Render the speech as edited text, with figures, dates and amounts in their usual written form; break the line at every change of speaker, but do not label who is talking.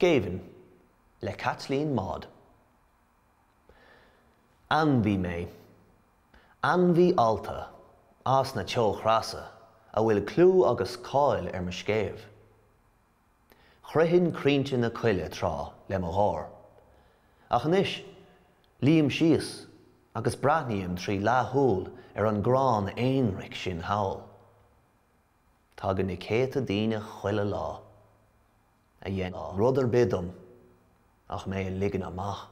Géibheann le Caitlín Maude. Ainmhí mé. Ainmhí allta, as na teochreasa, a bhfuil clú agus cáil ar mo scéimh. Shroichinn crainnte na coille tráth le mo gháir. Ach anois, luím síos agus breathnaím trí leathshúil ar an gcrann aonraic sin thall. Tagann na céadta daoine chuile lá a dhéanfadh rud ar bith dom ach mé a ligean amach.